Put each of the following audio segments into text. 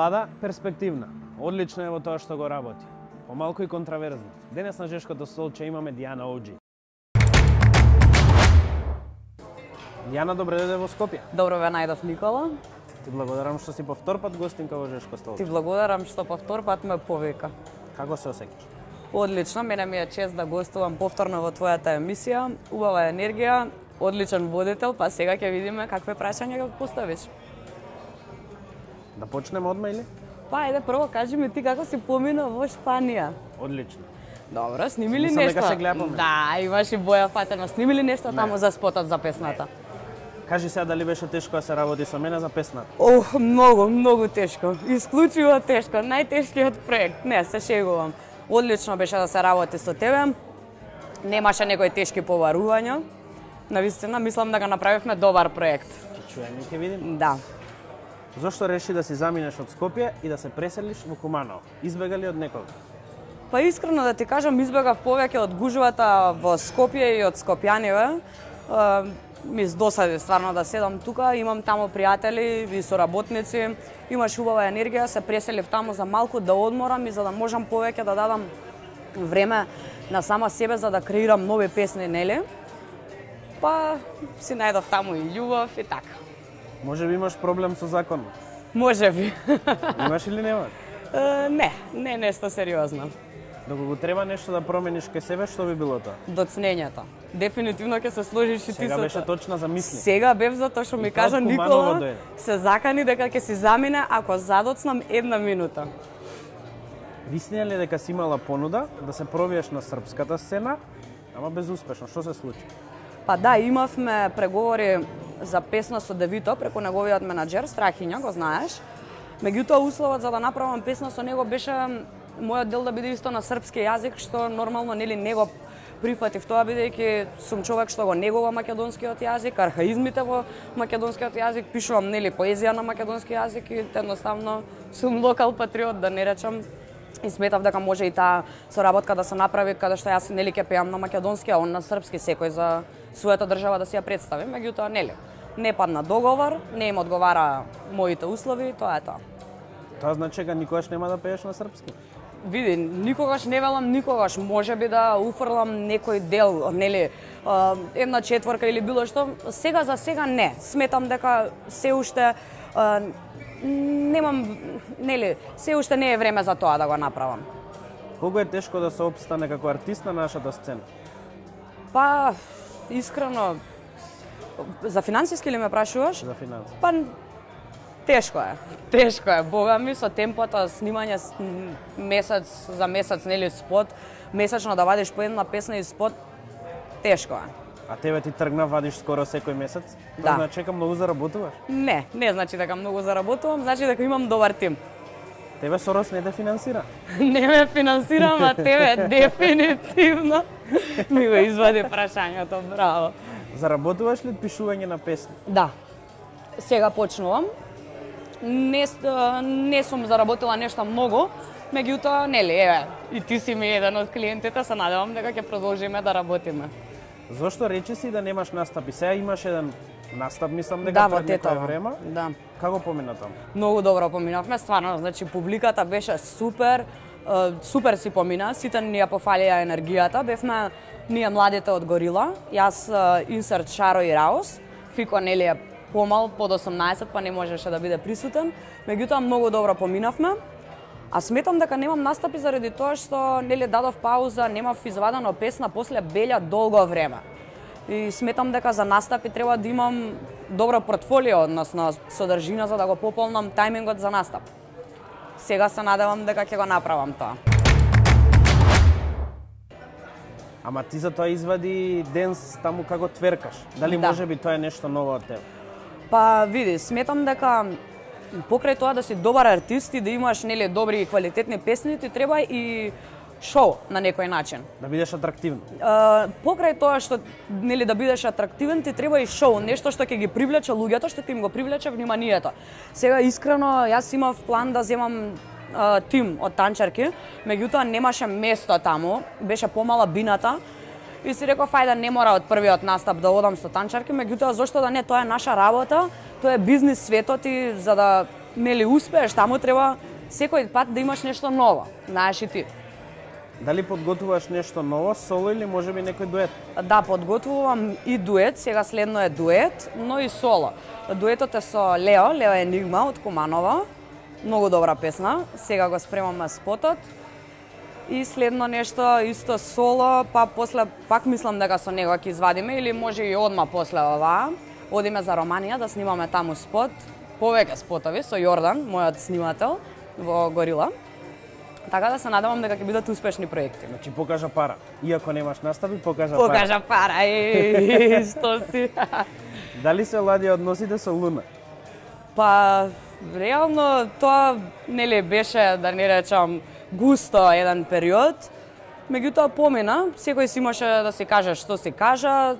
Млада, перспективна. Одлична е во тоа што го работи. Помалку и контраверзна. Денес на Жешкото столче имаме Дијана Оуџи. Дијана, добре дојде во Скопје. Добро ве најдов, Никола. Ти благодарам што си повтор пат гостинка во Жешко столче. Ти благодарам што повтор пат ме повика. Како се осеќаш? Одлично, мене ми е чест да гостувам повторно во твојата емисија. Убава енергија, одличен водител, па сега ќе видиме какве прашања ќе поставиш. Да почнеме одма или? Па, ајде прво кажи ми ти како си помина во Шпанија. Одлично. Добро, сними ли Мислам нешто? дека се гледаме. Да, имаш и Боја Фатена. Сними ли нешто таму за спотот за песната? Кажи сега дали беше тешко да се работи со мене за песната? Ох, многу тешко. Исклучиво тешко. Најтешкиот проект. Не, се шегувам. Одлично беше да се работи со тебе. Немаше некои тешки поварувања. Навистина, мислам да го направивме добар проект. Ќе чуеме, ќе видим. Да. Зошто реши да си заминеш од Скопје и да се преселиш во Куманово? Избега ли од некога? Па искрено да ти кажам, избегав повеќе од гужвата во Скопје и од скопјаниве. Ми досади стварно да седам тука, имам таму пријатели и соработници, имаш убава енергија, се преселив таму за малку да одморам и за да можам повеќе да дадам време на сама себе за да креирам нови песни, нели? Па си најдов таму и љубов и така. Може би имаш проблем со законот? Може би. Имаш или немаш? Не нешто сериозно. Доколку го треба нешто да промениш кај себе, што би било тоа? Доцнењето. Дефинитивно ќе се сложиш и ти Сега со беше тоа. точна за мисли. Сега бев затоа што ми И тоа од кажа Куманово Никола, дојде. се закани дека ќе си замине ако задоцнам 1 минута. Висна ли дека си имала понуда да се пробиеш на српската сцена, ама безуспешно? Што се случи? Па да, имавме преговори за песна со Девито преку неговиот менаџер Страхиња, го знаеш. Меѓутоа условот за да направам песна со него беше мојот дел да биде исто на српски јазик, што нормално нели не го прифатив тоа бидејќи сум човек што го негува македонскиот јазик, архаизмите во македонскиот јазик, пишувам нели поезија на македонски јазик и едноставно сум локал патриот, да не речам. И сметав дека може и таа соработка да се направи каде што јас нели ќе пеам на македонски, а он на српски, секој за својата држава да си ја представи. Меѓутоа нели не падна договор, не им одговара моите услови, тоа е тоа. Тоа значи дека никогаш нема да пееш на српски? Види, никогаш не велам никогаш, може би да уфрлам некој дел, нели, 1/4 или било што. Сега за сега не. Сметам дека се уште немам, нели, се уште не е време за тоа да го направам. Колку е тешко да се опстане како артист на нашата сцена? Па, искрено, за финансиски ли ме прашуваш? За финанси. Па, тешко е. Тешко е. Бога ми, со темпото снимање месец за месец, нели, спот, месечно да вадиш по една песна и спот, тешко е. А тебе ти тргна вадиш скоро секој месец? Да. Значи дека многу заработуваш? Не значи дека многу заработувам, значи дека имам добар тим. Тебе Сорос не те финансира? Не ме финансирам, а тебе дефинитивно ми го извади прашањето, браво. Заработуваш ли од пишување на песни? Да. Сега почнувам. Не сум заработила нешто многу, меѓутоа, нели, еве, и ти си ми еден од клиентите, се надевам дека ќе продолжиме да работиме. Зошто речи си да немаш настапи? Сега имаш еден настап, мислам дека Да, во пред некое Тетово. време. Да. Како помина таму? Многу добро поминавме, стварно, значи публиката беше супер, супер си помина, сите ни ја пофалија енергијата, бевме ние младите од Горила, јас Инсерт Шаро и Раус, Фико нели е помал, под 18, па не можеше да биде присутен, меѓутоа многу добро поминавме. А сметам дека немам настапи заради тоа што нели дадов пауза, немав извадено песна после Белја долго време. И сметам дека за настапи треба да имам добро портфолио, односно содржина за да го пополнам тајмингот за настап. Сега се надевам дека ќе го направам тоа. Ама ти за тоа извади денс таму како тверкаш. Дали Да. може би тоа е нешто ново од тебе? Па види, сметам дека покрај тоа да си добар артист и да имаш нели добри и квалитетни песни, ти треба и шоу на некој начин. Да бидеш атрактивна. Покрај тоа што нели да бидеш атрактивен, ти треба и шоу, нешто што ќе ги привлече луѓето, што ќе им го привлече вниманието. Сега искрено јас имав план да земам тим од танчарки, меѓутоа немаше место таму, беше помала бината. И си реков, ајде, не мора од првиот настап да одам со танчарки, меѓутоа зошто да не, тоа е наша работа, тоа е бизнис светот и за да нели успееш, таму треба секој пат да имаш нешто ново, знаеш и ти. Дали подготвуваш нешто ново, соло или можеби некој дует? Да, подготвувам и дует, сега следно е дует, но и соло. Дуетот е со Лео Енигма од Куманово. Многу добра песна. Сега го спремаме спотот. И следно нешто исто соло, па после пак мислам дека со него ќе извадиме или може и одма после ова. Одиме за Романија да снимаме таму спот. Повеќе спотови со Јордан, мојот снимател во Горила. Така да се надевам дека ќе бидат успешни проекти. Значи покажа пара. Иако немаш настави, покажа пара. Што си? Дали се ладија односите со Луна? Па, реално тоа нели беше, да не речам, густо еден период. Меѓутоа помина, секој си имаше да си каже што си кажа,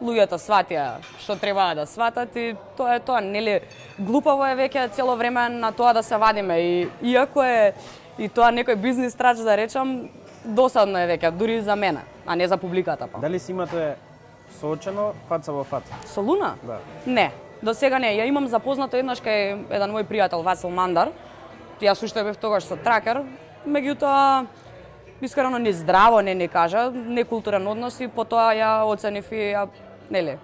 луѓето сватија што требаа да сватат и тоа е тоа, нели глупаво е веќе цело време на тоа да се вадиме и иако е и тоа некој бизнис трач да речам, досадно е веќе, дури за мене, а не за публиката па. Дали си имате соочено фаца во фаца? Со Луна? Да. Не, до сега не. Ја имам запознато еднаш кај еден мој пријател Васил Мандар. Јас уште бев тогаш со тракер, меѓутоа искрено не здраво не кажа, некултурен однос и потоа ја оценив и ја нели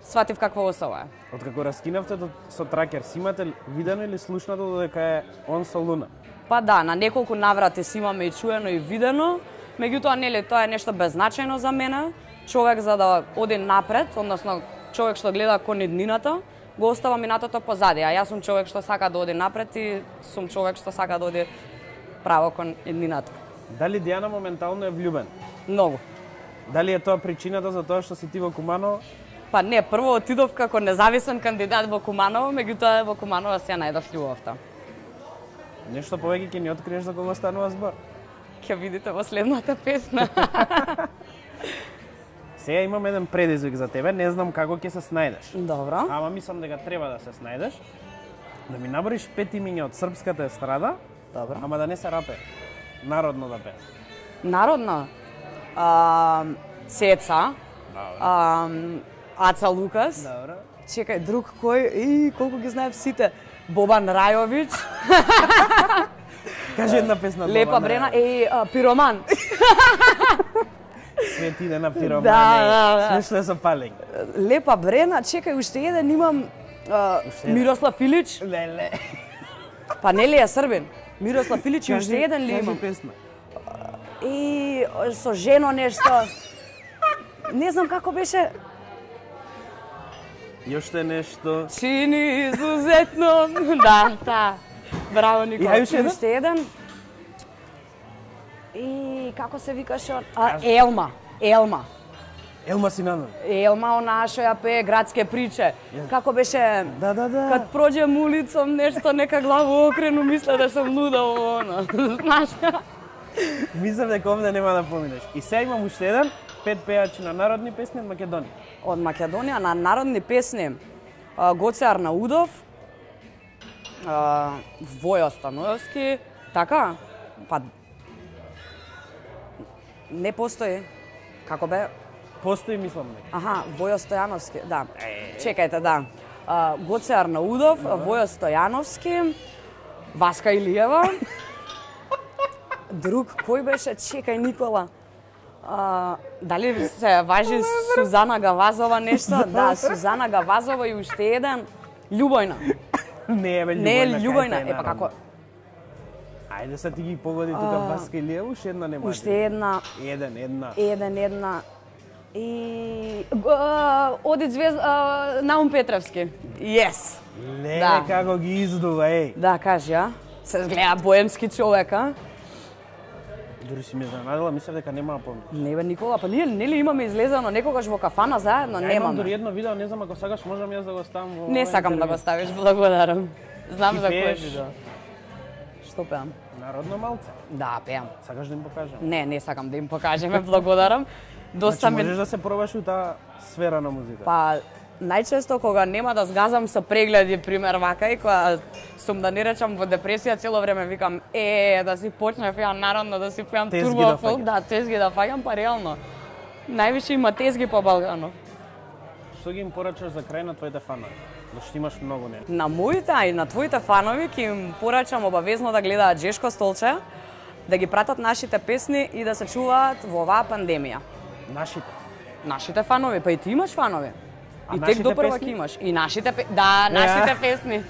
сватив каква особа е. Откако раскинавте со тракер, си имате видено или слушнато додека е он со Луна? Па да, на неколку наврати си имаме и чуено и видено, меѓутоа нели тоа е нешто беззначајно за мене. Човек за да оди напред, односно човек што гледа кон иднината, го остава минатото позади, а јас сум човек што сака да оди напред и сум човек што сака да оди право кон иднината. Дали Дијана моментално е влюбен? Многу. Дали е тоа причината за тоа што си ти во Куманово? Па не, прво отидов како независен кандидат во Куманово, меѓутоа во Куманово се најдов љубовта. Нешто повеќе ќе ни откриеш за кого станува збор? Ќе видите во следната песна. Сега имам еден предизвик за тебе, не знам како ќе се снајдеш. Добро. Ама мислам дека треба да се снајдеш. Да ми набориш 5 имиња од српската естрада, Добро. ама да не се рапе. Народно да пее. Народно? Цеца. Добро. Аца Лукас. Добро. Чекај, друг кој? Колку ги знаев сите. Бобан Рајовиќ. Кажи една песна. Лепа Брена. Пироман. Свет иде на Пироман. Да. Смешно е со палење. Лепа Брена. Чекај, уште еден имам. Мирослав Илич. Леле. Па нели е србин? Мирослав Илич и уште еден ли имам? Кажи песна. Со жено нешто. Не знам како беше. И уште нешто. Чини изузетно. Да. Браво, Никола. И уште еден. И како се викаше? Елма. Елма Синанов. Елма, она што ја пее градске приче. Како беше? Да. Кад проđem улицом, нешто нека главу окрену, мисля да сум луда во она. Знаеш? Мислам дека овде нема да поминеш. И сега имам уште еден, 5 пејачи на народни песни од Македонија. Од Македонија на народни песни. Гоце Арнаудов, Војо Становски, така? Па не постои. Како бе? Постои, мислам дека. Аха, Војо Стојановски, да. Чекајте, да. Гоце Арнаудов, Војо Стојановски, Васка Илиева. Друг, кој беше? Чекај, Никола. Дали се важи Сузана Гавазова нешто? Да, Сузана Гавазова и уште еден. Љубојна. Не, бе, Љубојна. Не, Љубојна. Епа како? Ајде се ти ги погоди тука Васка Илиева, уште една нема. Уште една. Една. И оди звезда Наум Петревски. Yes. Леле, како ги издува, еј. Да, кажи, а? Се гледа боемски човек, а? Дури си ме занадела, мислев дека нема да помниш. Не бе, Никола, па ние нели имаме излезено некогаш во кафана заедно? Ја имам дури Немаме. едно видео, не знам ако сакаш можам јас да го ставам во... Не сакам да го ставиш, благодарам. Знам Ти за кој пееш? видео. Што пеам? Народно малце. Да, пеам. Сакаш да им покажам? Не сакам да им покажеме, благодарам. Доста Значи ми... можеш да се пробаш у таа сфера на музика. Па, најчесто кога нема да сгазам со прегледи, пример вака, и кога сум да не речам во депресија, цело време викам, да си почнев ја народно, да си пеам Тезги турбо да фолк, фаќам. да, тезги да фаќам, па реално. Највише има тезги по Балканов. Што ги им порачаш за крај на твоите фанови? Зашто имаш многу не. На моите и на твоите фанови ќе им порачам обавезно да гледаат Жешко Столче, да ги пратат нашите песни и да се чуваат во оваа пандемија. Нашите фанови, па и ти имаш фанови. И тек допрва ќе имаш. И нашите нашите песни.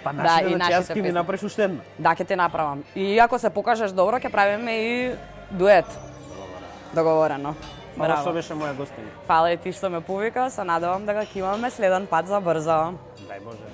Па нашите, јас ќе ми направиш уште една. Да, ќе ти направам. И ако се покажеш добро, ќе правиме и дует. Договорено. Фала што беше моја гостина. Фала и ти што ме повика, се надевам да го имаме следен пат за брзо. Дај Боже.